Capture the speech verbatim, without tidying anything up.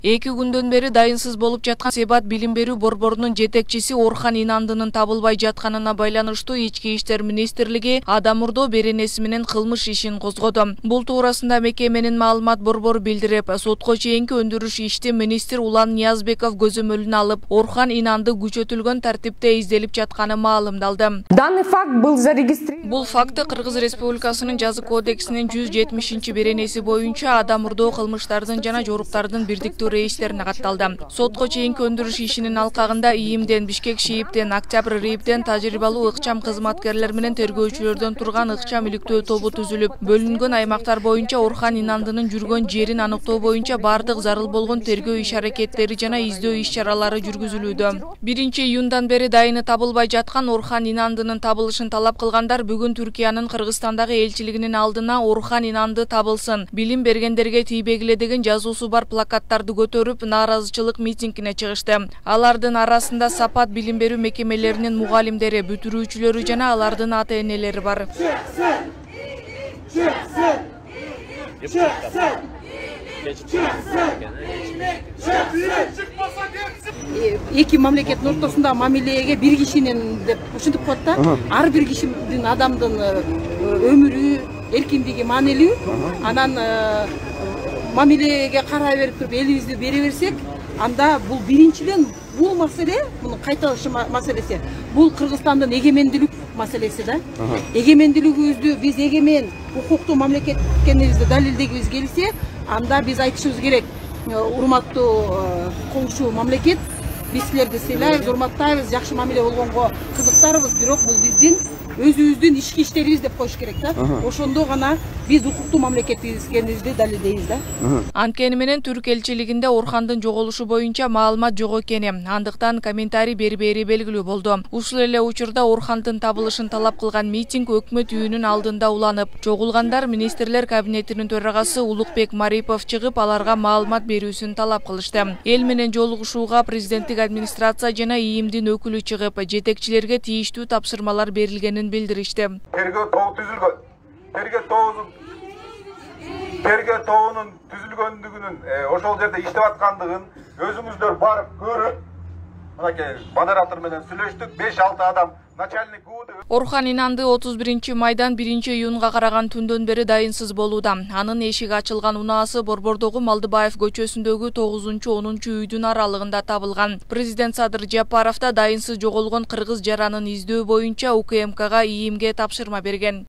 Эки күндөн бери дайынсыз болуп жаткан Себат билим берүү борборунун жетекчиси Орхан Инандынын табылбай жатканына байланыштуу Ички иштер министрлиги Адамурдо беренеси менен кылмыш ишин козгоду. Бул туурасында мекеменин маалымат борбору билдирип, сотко чейинки өндүрүш ишти министр Улан Ниязбеков көзөмөлүнө алып, Орхан Инанды күчөтүлгөн тартипте изделип жатканы маалымдалды. Данный факт был зарегистрирован. Бул факты Кыргыз Республикасынын жазык кодексинин жүз жетимишинчи беренеси боюнча Адамурдо кылмыштардын жана жоруктардын бирдиктүү рейстерине катталды. Сотко чейинки өндүрүш ишинин алкагында ИИМден, Бишкек ШИИБден, Октябрь РИИБден тажрыйбалуу ыкчам кызматкерлер менен тергөөчүлөрдөн турган ыкчам иликтөө тобу түзүлүп, бөлүнгөн аймактар боюнча Орхан Инандынын жүргөн жерин аныктоо боюнча бардык зарыл болгон тергөө иш-аракеттери жана издөө иш-чаралары жүргүзүлүүдө. биринчи июндан бери дайыны табылбай жаткан Орхан Инандынын табылышын талап кылгандар бүгүн Түркиянын Кыргызстандагы элчилигинин алдына Орхан Инанды табылсын, билим бергендерге тийбегиле деген жазуусу бар плакаттарды көтөрүп нааразычылык митингине чыгышты. Алардын арасында Сапат билим берүү мекемелеринин мугалимдери, бүтүрүүчүлөрү жана алардын ата-энелери бар. Эки мамлекеттин ортосунда мамилеге бир кишинин деп ушинтип коет да. Ар бир кишинин адамдын өмүрү, эркиндиги маанилүү. Анан мамилеге карай берип туруп элибизди бере берсек, анда бул биринчиден бул маселе, мунун кайталышы маселеси, бул Кыргызстандын эгемендүүлүк маселеси да. Эгемендүүлүгүбүздү биз эгемен, укуктуу мамлекет экенибизди далилдегибиз келсе, анда биз айтышыбыз керек. Урматтуу коңшу мамлекет, биз силерди сыйлайбыз, урматтайбыз, жакшы мамиле болгонго кызыктарбыз, бирок бул биздин өзүбүздүн ички иштерибиз деп коюш керек да. Ошондо гана биз укуктуу мамлекетибиз экенибизди далилдейбиз да. Анткени менен Түрк элчилигинде Орхандын жоголушу боюнча маалымат жок экени, андыктан комментарий бербери белгилүү болду. Ушул эле учурда Орхандын табылышын талап кылган митинг өкмөт үйүнүн алдында уланып, чогулгандар министрлер кабинетинин төрагасы Улукбек Марипов чыгып, аларга маалымат берүүсүн талап кылышты. Эл менен жолугушууга президенттик администрация жана ИИМдин өкүлү чыгып, жетекчилерге тийиштүү тапшырмалар берилгенин билдиришти. Тергөө тобу түзүлгөн. Тергөө тобунун тергөө тобунун түзүлгөндүгүнүн, ошол жерде иштеп аткандыгын өзүңүздөр барып көрүп, мынакей модератор менен сүйлөштүк. беш алты адам начальник УУД. Орхан Инанды отуз биринчи майдан биринчи июнга караган түндөн бери дайынсыз болууда. Анын эшиги ачылган унаасы Борбордогу Малдыбаев көчөсүндөгү тогузунчу онунчу үйдүн аралыгында табылган. Президент Садыр Жапаров да дайынсыз жоголгон кыргыз жаранын издөө боюнча УКМКга ИИМге тапшырма берген.